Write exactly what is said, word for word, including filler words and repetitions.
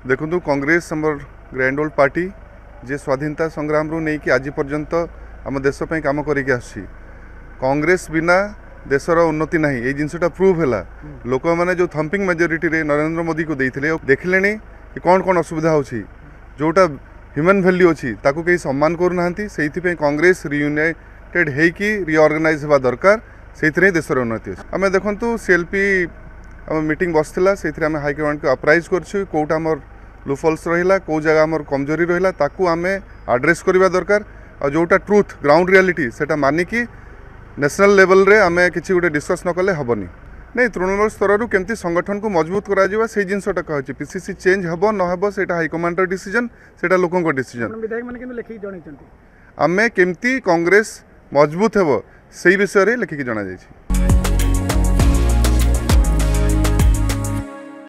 ଦେଖନ୍ତୁ, କଂଗ୍ରେସ ଆମର grand old party, ଯିଏ ସ୍ୱାଧୀନତା ସଂଗ୍ରାମରୁ ନେଇକି ଆଜି ପର୍ଯ୍ୟନ୍ତ ଆମ ଦେଶ ପାଇଁ କାମ କରିକି ଆସୁଛି। କଂଗ୍ରେସ ବିନା ଦେଶର ଉନ୍ନତି ନାହିଁ, ଏଇ ଜିନିଷଟା ପ୍ରୁଭ୍ ହେଲା। ଲୋକମାନେ ଯେଉଁ ଥମ୍ପିଂ ମେଜରିଟିରେ ନରେନ୍ଦ୍ର ମୋଦିକୁ ଦେଇଥିଲେ, ଦେଖିଲେଣି କି କ'ଣ କ'ଣ ଅସୁବିଧା ହେଉଛି। ଯେଉଁଟା ହ୍ୟୁମାନ୍ ଭ୍ୟାଲ୍ୟୁ ଅଛି, ତାକୁ କେହି ସମ୍ମାନ କରୁନାହାନ୍ତି। ସେଇଥିପାଇଁ କଂଗ୍ରେସ ରିୟୁନାଇଟେଡ୍ ହେଇକି ରିଅର୍ଗାନାଇଜ୍ ହେବା ଦରକାର। ସେଇଥିରେ ହିଁ ଦେଶର ଉନ୍ନତି ଅଛି। ଆମେ ଦେଖନ୍ତୁ, ସିଏଲ୍ପି ଆମ ମିଟିଂ ବସିଥିଲା, ସେଇଥିରେ ଆମେ ହାଇକମାଣ୍ଡକୁ ଆପ୍ରାଇଜ୍ କରିଛୁ କେଉଁଟା ଆମର ଲୁପହୋଲ୍ସ ରହିଲା, କେଉଁ ଜାଗା ଆମର କମଜୋରି ରହିଲା, ତାକୁ ଆମେ ଆଡ୍ରେସ୍ କରିବା ଦରକାର। ଆଉ ଯେଉଁଟା ଟ୍ରୁଥ୍, ଗ୍ରାଉଣ୍ଡ ରିଆଲିଟି, ସେଇଟା ମାନିକି ନ୍ୟାସନାଲ୍ ଲେଭେଲରେ ଆମେ କିଛି ଗୋଟେ ଡିସ୍କସ୍ ନ କଲେ ହେବନି। ନାଇଁ, ତୃଣମୂଳ ସ୍ତରରୁ କେମିତି ସଂଗଠନକୁ ମଜବୁତ କରାଯିବ, ସେଇ ଜିନିଷଟା କହୁଛି। ପିସିସି ଚେଞ୍ଜ ହେବ ନ ହେବ, ସେଇଟା ହାଇକମାଣ୍ଡର ଡିସିଜନ୍, ସେଇଟା ଲୋକଙ୍କ ଡିସିଜନ୍। ବିଧାୟକମାନେ କିନ୍ତୁ ଲେଖିକି ଜଣାଇଛନ୍ତି। ଆମେ କେମିତି କଂଗ୍ରେସ ମଜବୁତ ହେବ, ସେଇ ବିଷୟରେ ଲେଖିକି ଜଣାଯାଇଛି।